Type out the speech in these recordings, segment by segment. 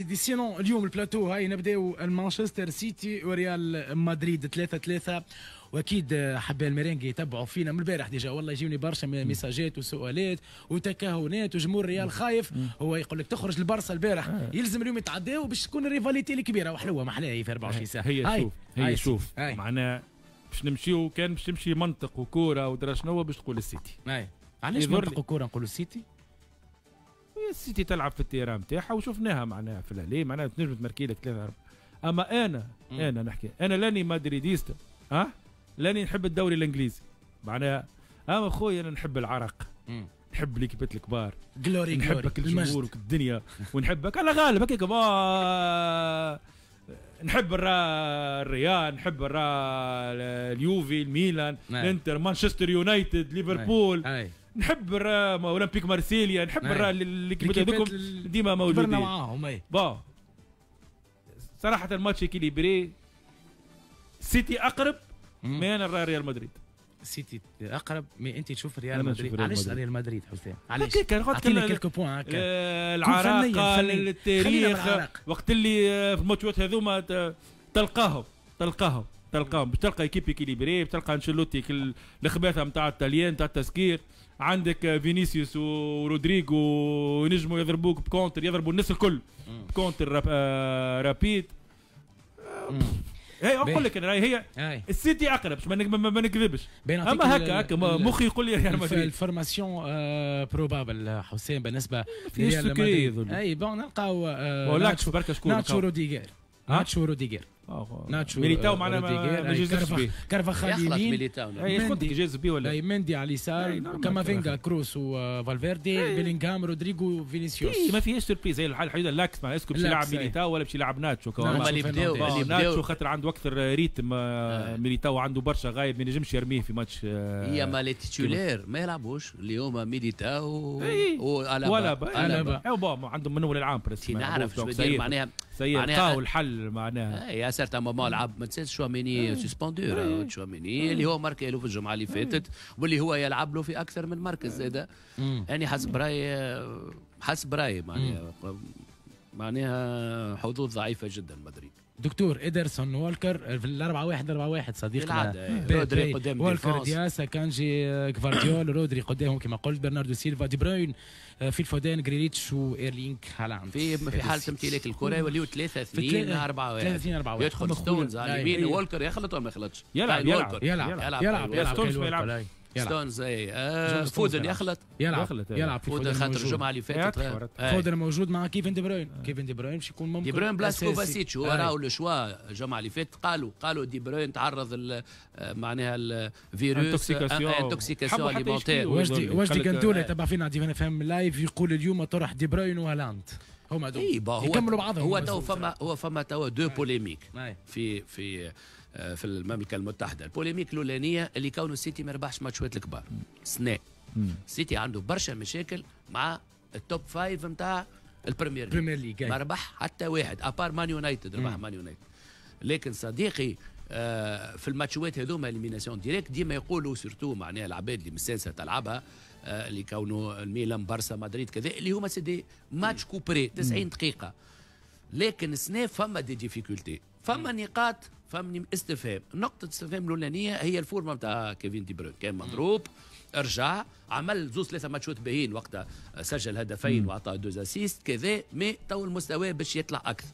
دي sinon اليوم البلاتو هاي نبداو المانشستر سيتي وريال مدريد 3-3، واكيد حباء الميرينجي يتبعوا فينا من البارح déjà، والله يجيوني برشا ميساجات وسؤالات وتكهنات، وجمهور ريال خايف، هو يقول لك تخرج البرسا البارح، يلزم اليوم يتعداو باش تكون ال rivalité الكبيرة وحلوه محلاها في 24 ساعة. هي شوف، هي شوف معناها باش نمشيو، كان باش تمشي منطق وكوره ودرا شنو باش تقول السيتي. علاش منطق وكوره نقولوا السيتي؟ السيتي تلعب في ال terrain نتاعها وشفناها معناها في l'aller، معناها تنجم تمركي لك 3 4. اما انا نحكي، انا لاني madridista، ها لاني نحب الدوري الانجليزي معناها، اما خويا انا نحب العرق، نحب ليكيبات الكبار، glory نحبك الجمهور والدنيا، ونحبك على غالب هكاك. نحب الريال، نحب اليوفي، الميلان، الانتر، مانشستر يونايتد، ليفربول، نحب اولمبيك مارسيليا، نحب l'équipe هذوك ديما موجودين معاهم. bon صراحة ال match équilibré، سيتي اقرب، mais انا نرى ريال مدريد. سيتي اقرب، mais انت تشوف ريال مدريد. علاش ريال مدريد حسام؟ علاش؟ اعطيني quelques points هكا. العراقه، التاريخ، وقت اللي في الماتشات هذوما تلقاهم تلقاهم تلقاهم باش تلقى équipe équilibrée، تلقى انشيلوتي الخباثه نتاع الطليان نتاع التسكير، عندك فينيسيوس ورودريغو ينجموا يضربوك ب contre، يضربوا الناس الكل ب contre rapide. هي اقول لك انا هي السيتي اقرب باش ما نكذبش، اما هكا هكا مخي يقول لي ريال مدريد. ال formation probable حسين بالنسبة لريال مدريد؟ اي bon نلقاو ناتشو بركة، شكون ناتشو روديغير، ناتشو روديغير، ناتشو ميليتاو معناها ما جازش به، كارفاخال يمين، ميليتاو جاز به ولا مندي على اليسار، كامافينغا، كروس وفالفيردي، بيلينغهام، رودريغو، فينيسيوس. ما فيهاش surprise، هي الحاجة l'axe معناها est-ce que باش يلعب ميليتاو ولا باش يلعب ناتشو. هما اللي بداو اللي ناتشو خاطر عنده اكثر rythme، ميليتاو عنده برشا غايب، ما ينجمش يرميه في ماتش. هي ما les titulaires ما يلعبوش اللي هما ميليتاو ولا با عندهم من اول العام presque. نعرف شو معناها. معناها الحل معناها. à certain moment لعب، ما تنساش شواميني suspendu، تشواميني اللي هو ماركي له في الجمعة اللي فاتت واللي هو يلعب له في اكثر من مركز زاده. يعني حسب رايي معناها حظوظ ضعيفة جدا مدريد. دكتور ادرسون والكر في الأربعة واحد أربعة واحد صديقنا. رودري قدام والكر، دياس، كانجي، كفارديول، رودري قدامهم كما قلت، برناردو سيلفا، دي بروين، فيل فودين، جريليتش وايرلينغ هالاند. في حاله امتلاك الكره يوليو 3-2 4 1. 3-2 4 1. يدخل ستونز على اليمين، والكر يخلط ولا ما يخلطش؟ يلعب يلعب. يلعب يلعب يلعب. ستونز ما يلعب. ستونز اي فودن يخلط. يلعب يلعب. في فودن خاطر الجمعة اللي فاتت. فودن موجود مع كيفن دي بروين، كيفن دي بروين باش يكون ممكن دي بروين بلاص كوفاسيتش، هو راهو le choix. الجمعة اللي فاتت قالوا دي بروين تعرض معناها الفيروس، intoxication alimentaire. وجدي كنتولا تبع فينا دي فهم live، يقول اليوم طرح دي بروين وهالاند هما دول يكملوا بعضهم. هو فما تو deux polémiques في المملكة المتحده. ال polémique الاولانية اللي كونه السيتي ما ربحش ماتشات الكبار سنة. السيتي عنده برشا مشاكل مع ال top five نتاع البريمير ليج، ما ربح حتى واحد à part مان يونايتد، ربح مان يونايتد. لكن صديقي في الماتشات هذوما élimination directe ديما يقولوا، surtout معناها العباد اللي مستانسه تلعبها، اللي كونوا الميلان، برسا، مدريد، كذا، اللي هما c'est des matchs couperets 90 دقيقه. لكن السنة فما des difficultés، فما نقاط، فما استفهام. نقطة استفهام الأولانية هي ال forme نتاع كيفين دي بروين. كان مضروب، رجع عمل زوز ثلاثة ماتشات باهين، وقتها سجل هدفين وعطى deux assists كذا، mais تو المستوى باش يطلع أكثر.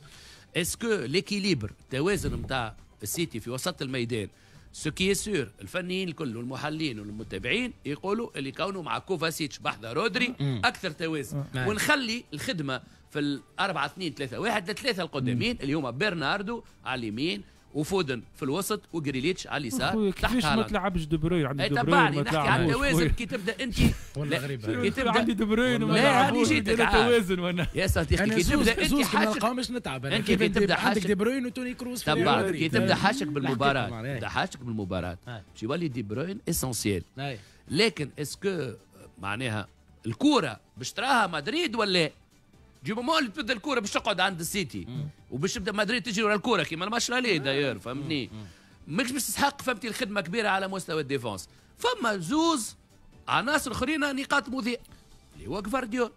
est-ce que l'équilibre، التوازن نتاع السيتي في وسط الميدان؟ ce qui est sûr، الفنيين الكل والمحللين والمتابعين يقولوا اللي كونه مع كوفاسيتش بحذا رودري اكثر توازن، ونخلي الخدمة في ال4-2-3-1 لثلاثة القدامين اللي هما برناردو على اليمين وفودن في الوسط وجريليتش على اليسار. تحت ما تلعبش دي بروين؟ عندي دي بروين، نحكي على التوازن كي تبدا انت. والله غريبه. كي تبدا عندي دي بروين وما لا هاني جيتك توازن وانا يا صديقي كي تبدا انت حاجك مش نتعب. انت كي تبدا عندك دي بروين وتوني كروز. تبع كي تبدا حاشك بالمباراه، تبدا حاشك بالمباراة باش يولي دي بروين essentiel. لكن est-ce que معناها الكورة باش تراها مدريد ولا du moment اللي تبدا الكورة باش تقعد عند السيتي وباش تبدا مدريد تجري ورا الكورة كيما الماتش l'aller d'ailleurs، فهمتني؟ ماكش باش تستحق، فهمتي، الخدمة كبيرة على مستوى ال défense. فما زوز عناصر اخرين نقاط مضيئه. اللي هو جفارديول.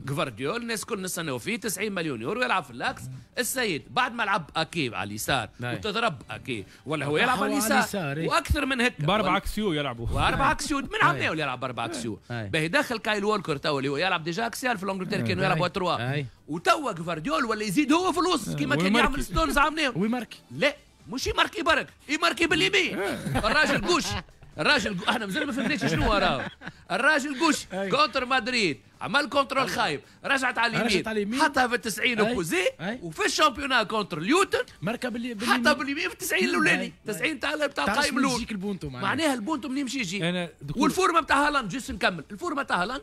جفارديول الناس كل نستناو فيه 90 مليون يورو يلعب في l'axe. السيد بعد ما لعب اكي على اليسار وتضرب اكي ولا هو يلعب على اليسار واكثر من هيك باربع axiaux يلعبوا، واربع axiaux من عمناول يلعب باربع axiaux. باهي دخل كايل وولكر تو اللي هو يلعب déjà axial في l'Angleterre كانوا يلعبوا trois، وتوا جفارديول ولا يزيد هو في الوسط كيما كان يعمل ستونز عمناول ويماركي. لا مش يماركي برك، يماركي باليمين. الراجل gauche، الراجل احنا مازال ما فهمناش شنو راه. الراجل gauche contre مدريد عمل contrôle خايب، رجعت على اليمين حطها في 90 opposé، وفي ال championnat contre ليوتن مركب باليمين، حطها باليمين في 90 الاولاني، 90 تاع القايم الاول. معناها البونتو منين يمشي يجي. وال forme تاع هالاند juste نكمل، ال forme تاع هالاند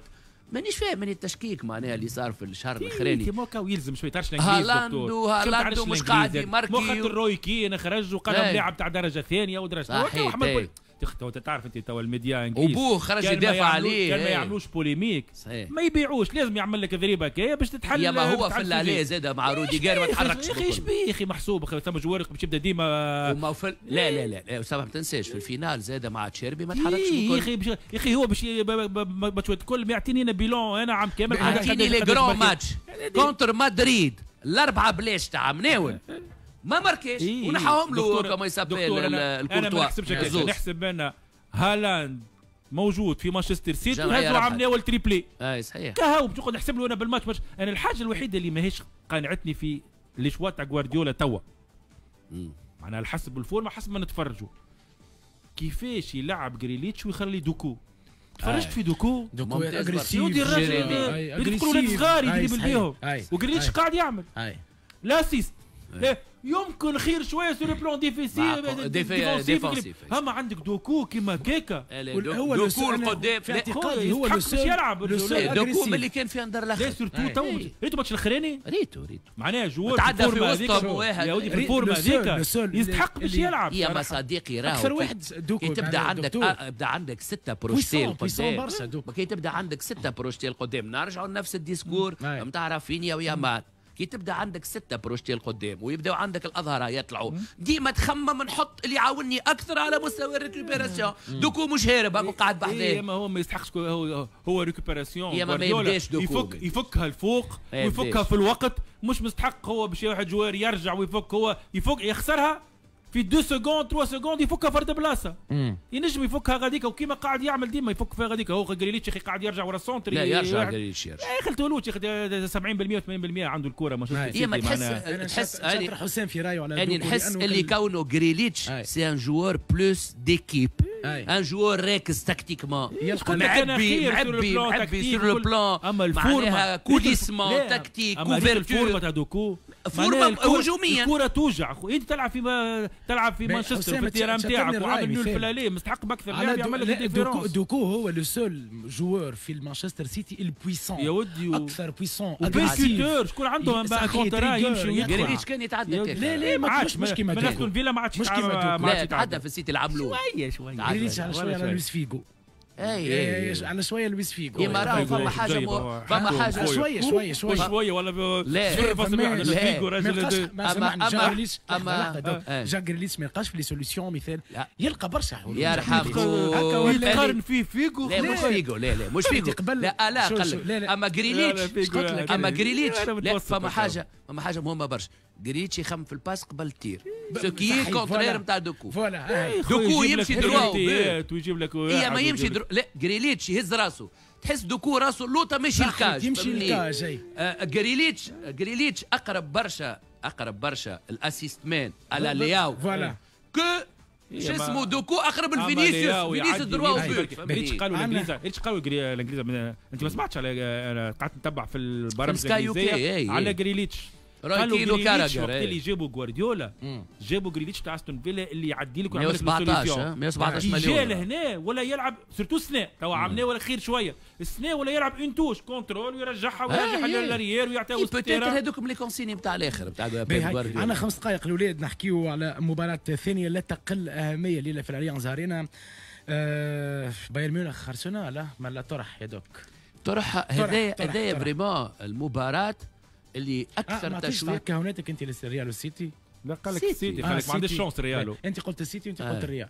مانيش فاهم من التشكيك معناها اللي صار في الشهر الاخراني. كيما يلزم شوية تعرفش الانجليز هالاند، وهالاند مش قاعد يماركي. مو خاطر روي كين خرج وقال لاعب تاع درجه ثانية ودرجة ثانية. تعرف انت تو الميديا انجليز وبوه خرج يدافع عليه، كان ما يعملوش polémique ما يبيعوش، لازم يعمل لك ضريبة كي باش تتحل. يا ما هو في اللي زاد مع روديجير ما تحركش. يا اخي ايش بيه يا اخي محسوب ثم joueur باش يبدا ديما وما في. لا لا لا اسامة ما تنساش في ال finale زاد مع تشيربي ما تحركش. يا اخي يا اخي هو باش ماتشات الكل يعطيني انا bilan انا عام كامل، يعطيني les grands matchs contre مدريد الاربعة بلاش تاع مناول ما ماركيش ونحاهم له comment il s'appelle الكورتوا. انا ما نحسبش هكاك، نحسب انا هالاند موجود في مانشستر سيتي وهزوا عام ناول triplé. اي صحيح كهو باش نقعد نحسب له انا بالماتش. انا الحاجة الوحيدة اللي ماهيش قانعتني في les choix تاع غوارديولا توا، معناها حسب ال forme حسب ما نتفرجوا كيفاش يلعب جريليتش ويخلي دوكو. تفرجت في دوكو، دوكو agressif، الراجل يدخلوا صغار يدربل بيهم، وجريليتش قاعد يعمل l'assist. يمكن خير شوية sur le plan défensif. اما عندك دوكو كيما كيكا هو دوكو القدام في اعتقادي هو le يلعب دوكو اللي كان في اندرلخت. لا surtout تو ريتو ماتش الاخراني، ريتو معناها joueur تعدى في وسطهم واحد يا ودي في ال forme هذيك يستحق باش يلعب. يا ما صديقي راهو اكثر واحد دوكو. كي تبدا عندك تبدا عندك 6 projetés القدام، كي تبدا عندك 6 projetés القدام نرجعوا لنفس ال discours نتاع رافينيا ويامال. كي تبدا عندك 6 projetés القدام ويبداو عندك الاظهرة يطلعوا، ديما تخمم نحط اللي يعاونني اكثر على مستوى ال récupération. دوكو مش هارب هاكو قاعد بحذاه. ما هو ما يستحقش، هو récupération يا ما يبداش دوكو يفكها الفوق ويفكها في الوقت، مش مستحق هو باش واحد joueur يرجع ويفك، هو يفك يخسرها في 2 secondes 3 secondes يفكها فرد بلاصة. ينجم يفكها غاديك، وكيما قاعد يعمل ديما يفك فيها غاديك. هو جريليتش اخي قاعد يرجع ورا ال centre. لا يرجع جريليتش يرجع. يا اخي التولوتش 70% 80% عنده الكره. ما شفتش ما تحس تحس حسام في رايه على اني نحس اللي كونه جريليتش c'est un joueur plus d'équipe، un joueur راكز tactiquement، معبي معبي معبي sur le plan، اما ال forme coulissement tactique couverture. ال forme تاع دوكو forme هجوميا، الكره توجع. انت تلعب في مانشستر في ال terrain نتاعك وعامل nul في l'aller، مستحق باكثر لاعب يعمل لك différence. دوكو هو le seul joueur في المانشستر سيتي ال puissant يا ودي، اكثر puissant percuteur. شكون عنده contre يمشي ويدخل. جريليتش كان يتعدى. لا لا ما مش كيما دوكو. استون فيلا ما عادش مش كيما دوكو. لا تعدى في السيتي لعب له شوية شوية. جريليتش على شوية على لويس فيغو. اي على شوية لويس فيغو. يا راهو فما حاجة فما حاجة شوية شوية شوية شوية ولا 0.1 فيغو راجل. اما جاك جريليتش ما يلقاش في les solutions مثال، يلقى برشا حلول. يا رحم يقارن فيه فيغو. لا مش فيغو، لا لا مش فيغو، لا لا قل. اما جريليتش، اما جريليتش لا فما حاجة، فما حاجة مهمة برشا. جريتش يخمم في ال passe قبل ال tir، ce qui est contraire نتاع دوكو. voilà دوكو يمشي droit ويجيب لك، هي ما يمشي droit. لا جريليتش يهز راسه، تحس دوكو راسه اللوطه ماشي ال cage، يمشي ال cage. جريليتش جريليتش اقرب برشا، اقرب برشا ال assist man على لياو. voilà que شو اسمه دوكو اقرب لفينيسيوس، فينيسيوس droit. ريتش قالوا الانجليز، ريتش قالوا الانجليز. انت ما سمعتش على، انا قعدت نتبع في البرامج الانجليزية على جريليتش. قالوا جريليتش وقت اللي جابوا غوارديولا جابوا جريليتش تاع استون فيلا اللي يعدي لك ويعمل لك 117 مليون. جا لهنا ولا يلعب surtout السنة توا عملناه ولا خير شوية السنة، ولا يلعب une touche contrôle ويرجعها ويرجعها لل arrière ويعطيها وسط ال terrain. هذوك les consignes نتاع الاخر نتاع غوارديولا. عندنا 5 دقائق الاولاد نحكيو على مباراة ثانية لا تقل اهمية ليلة في الاليانز ارينا. بايرن ميونخ ارسنال ما لا طرح يا دوك طرح. هذايا vraiment المباراة اللي اكثر تشويق. كهوناتك انت للريال والسيتي؟ لا قال لك السيتي، قال لك ما عنديش chance ريالو. انت قلت السيتي وانت قلت الريال.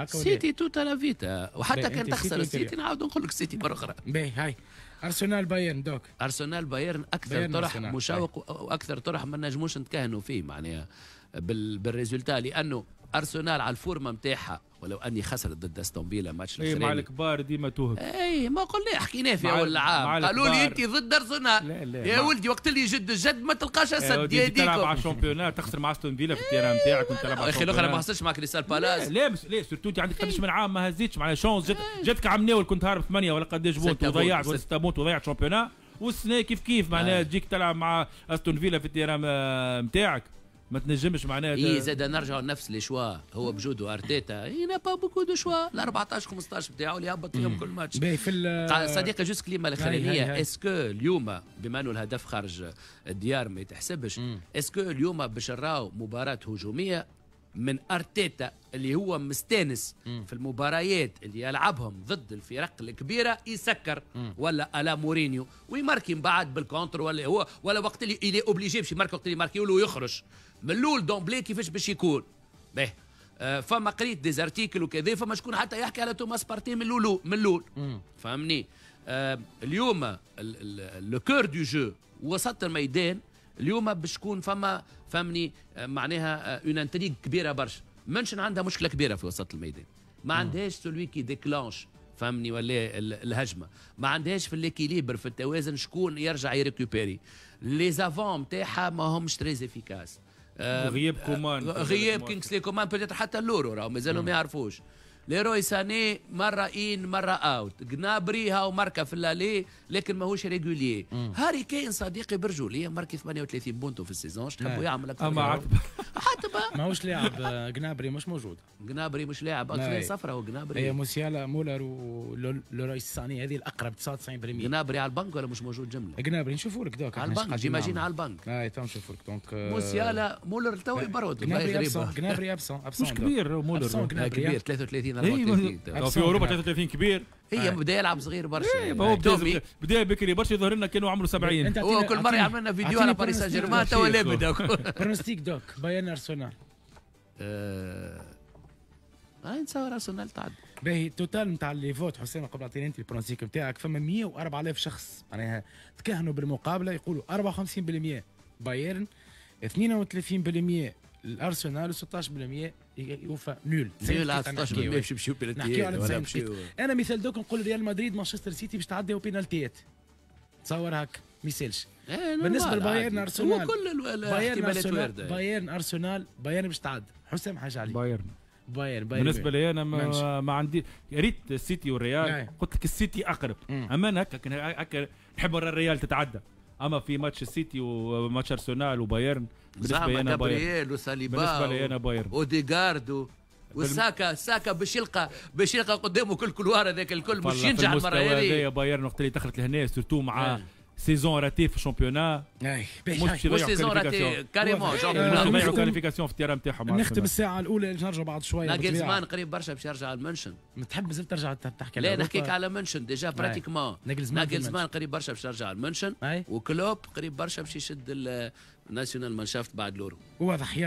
سيتي tutta la vita، وحتى كان تخسر السيتي نعاود نقول لك السيتي مرة اخرى. باهي هاي ارسنال بايرن دوك. ارسنال بايرن اكثر طرح مشوق واكثر طرح ما نجموش نتكهنوا فيه معناها بال résultat، لانه ارسنال على ال forme نتاعها ولو اني خسرت ضد استون فيلا ماتش الاخراني. مع الكبار ديما توهب. اي ما قلنا حكيناه في اول العام، قالوا لي انت ضد ارسنال. لا لا يا ولدي وقت اللي يجد الجد ما تلقاش اسد يا ديكم. تلعب على ال championnat تخسر مع استون فيلا في ال terrain نتاعك وانت تلعب على اخي الاخرى ما خسرتش مع كريستال بالاس. لا لا surtout انت عندك قداش من عام ما هزيتش معناها chance جاتك عام ناول كنت هارب 8 ولا قداش points وضيعت ولا 6 points وضيعت championnat، والسنة كيف كيف معناها تجيك تلعب مع استون فيلا في ال terrain نتاعك ما تنجمش معناها. اي زاد نرجعوا لنفس les choix، هو بجودو ارتيتا il n'a pas beaucoup de choix، ال 14 15 بتاعه اللي يهبط فيهم كل ماتش. في صديقي juste كلمة الاخرانية، est-ce que اليوم بما انه الهدف خارج الديار ما يتحسبش، est-ce que اليوم باش نراو مباراة هجومية من ارتيتا اللي هو مستانس في المباريات اللي يلعبهم ضد الفرق الكبيرة يسكر ولا à la مورينيو ويماركي من بعد بال contre، ولا هو ولا وقت اللي il est obligé باش يماركي وقت اللي يماركي له يخرج من الاول d'emblée كيفاش باش يكون باهي. فما قريت des articles وكذا، فما شكون حتى يحكي على توماس بارتي من الاول من الاول فهمني. اليوم le cœur du jeu وسط الميدان اليوم باش تكون فما فهمني معناها une intrigue كبيرة برشا. منشن عندها مشكلة كبيرة في وسط الميدان، ما عندهاش celui qui déclenche فهمني ولا الهجمة، ما عندهاش في l'équilibre في التوازن شكون يرجع يريكوبيري. les avants نتاعها ما همش très efficaces. غياب كومان، غياب كينغسلي كومان peut-être حتى اللورو راهو مازالوا ما يعرفوش. ليروي ساني مرة in مرة out، جنابري هاو ماركا في l'aller لكن ماهوش régulier. هاري كين صديقي برجولية ماركي 38 بونتو في ال saison، اش تحبوا يعمل اكثر؟ اما حتى ماهوش لاعب، جنابري مش موجود. جنابري مش لاعب اصلا صفرة وجنابري. هي موسيالا مولر ولوروي ساني هذه الاقرب 99%. جنابري على البنك ولا مش موجود جملة؟ جنابري نشوفوا لك دوك على ال banque، j'imagine على البنك. اي تو نشوفوا لك donc موسيالا مولر تو يبرد. جنابري absent مش كبير مولر، كبير 33 34 في اوروبا 33 كبير. هي بدا يلعب صغير برشا. هو بدا بكري برشا يظهر لنا كانوا عمره 70. هو كل مرة يعمل لنا فيديو على باريس سان جيرمان تو لابد. pronostic دوك بايرن ارسنال. نتصور ارسنال تعدي. باهي total نتاع les votes حسام قبل اعطيني انت ال pronostic نتاعك، فما 104,000 شخص معناها تكهنوا بالمقابلة، يقولوا 54% بايرن، 32% الارسنال، و16% يوفا nul. nul على 16% باش يمشيو بلانتيات. انا مثال دوك نقول ريال مدريد مانشستر سيتي باش تعديو بينالتيات، تصور هكا ما يسالش. بالنسبة لبايرن ارسنال كل الاحتمالات وارده. بايرن ارسنال بايرن باش تعدي. حسام حاجة عليك. بايرن بايرن بالنسبة لي انا ما عندي، يا ريت السيتي والريال، قلت لك السيتي اقرب، اما انا هكا نحب الريال تتعدى، اما في ماتش السيتي وماتش ارسنال وبايرن بالنسبة لي انا بايرن، وساليبا بالنسبة لي انا بايرن، اوديغارد وساكا. ساكا باش يلقى قدامه كل couloir هذاك الكل باش ينجح المرة هذه. بايرن وقت اللي دخلت لهنا surtout مع saison ratée في ال championnat، مش saison ratée carrément، يضيعوا qualification في ال terrain نتاعهم. نختم الساعة الاولى نرجعوا بعد شوية. ناجلزمان قريب برشا باش يرجع المنشن. تحب مازال ترجع تحكي؟ لا نحكيك على منشن déjà pratiquement. ناجلزمان قريب برشا باش يرجع المنشن، وكلوب قريب برشا باش يشد ال Nationalmannschaft بعد l'Euro. واضح. يلا.